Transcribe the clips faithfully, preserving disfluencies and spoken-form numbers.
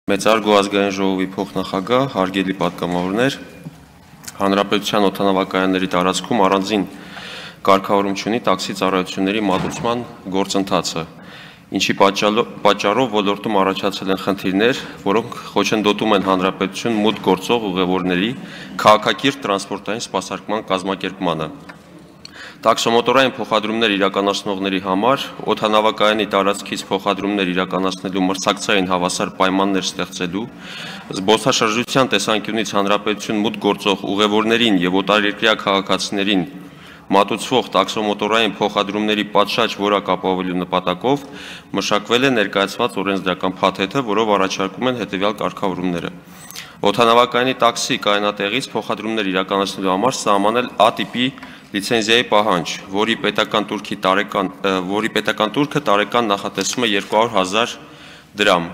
Մեծարգո ազգային ժողովի փոխնախագահ, հարգելի պատգամավորներ, Հանրապետության օդանավակայանների տարածքում առանձին կարգավորում չունի տաքսի ծառայությունների մատուցման գործընթացը, ինչի պատճառով ոլորտում առաջացել են խնդիրներ, որոնք խոչընդոտում են հանրապետություն մուտք գործող ուղևորների քաղաքակիրթ տրանսպորտային սպասարկման կազմակերպմանը։ Տաքսոմոտորային փոխադրումներ իրականացնողների համար օդանավակայանի տարածքից փոխադրումներ իրականացնելու մրցակցային հավասար պայմաններ ստեղծելու, զբոսաշրջության տեսանկյունից հանրապետություն մուտք գործող ուղևորներին եւ օտարերկրյա քաղաքացիներին մատուցվող տաքսոմոտորային փոխադրումների պատշաճ որակ ապահովելու նպատակով մշակվել է ներկայացված օրենսդրական փաթեթը, որով առաջարկում են հետևյալ կարգավորումները։ Օդանավակայանի տաքսի կայանատեղից փոխադրումներ իրականացնելու համար սահմանել A տիպի լիցենզիայի պահանջ, որի պետական տուրքի տարեկան, որի պետական տուրքը տարեկան նախատեսվում է երկու հարյուր հազար դրամ։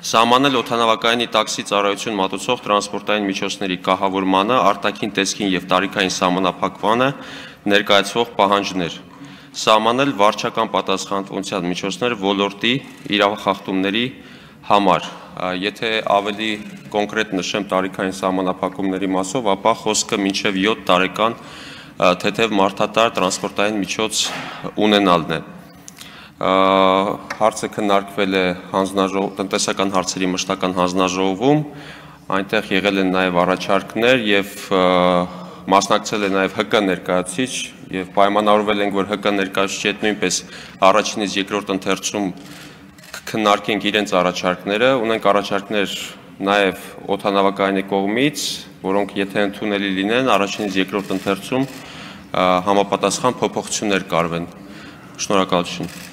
Սահմանել օդանավակայանի տաքսի ծառայություն մատուցող տրանսպորտային միջոցների կահավորմանը, արտաքին տեսքին եւ տարիքային սահմանափակմանը ներկայացվող պահանջներ։ Սահմանել վարչական պատասխանատվության միջոցներ ոլորտի իրավախախտումների համար։ Եթե ավելի կոնկրետ նշեմ տարիքային սահմանափակումների մասով, ապա խոսքը մինչև յոթ տարեկան թեթև մարդատար տրանսպորտային միջոց ունենալն է։ Հարցը քննարկվել է տնտեսական հարցերի մշտական հանձնաժողովում, այնտեղ եղել են նաև առաջարկներ եւ մասնակցել է նաև Հ Կ ներկայացուցիչ եւ պայմանավորվել ենք, որ Հ Կ ներկայացուցիչի հետ նույնպես առաջինից երկրորդ ընթերցում քննարկենք իրենց առաջարկները, ունենք առաջարկներ նաև օդանավակայանի կողմից, որոնք եթե ընդունելի լինեն, առաջինից երկրորդ ընթերցում համապատասխան փոփոխություններ կարվեն։ Շնորհակալություն։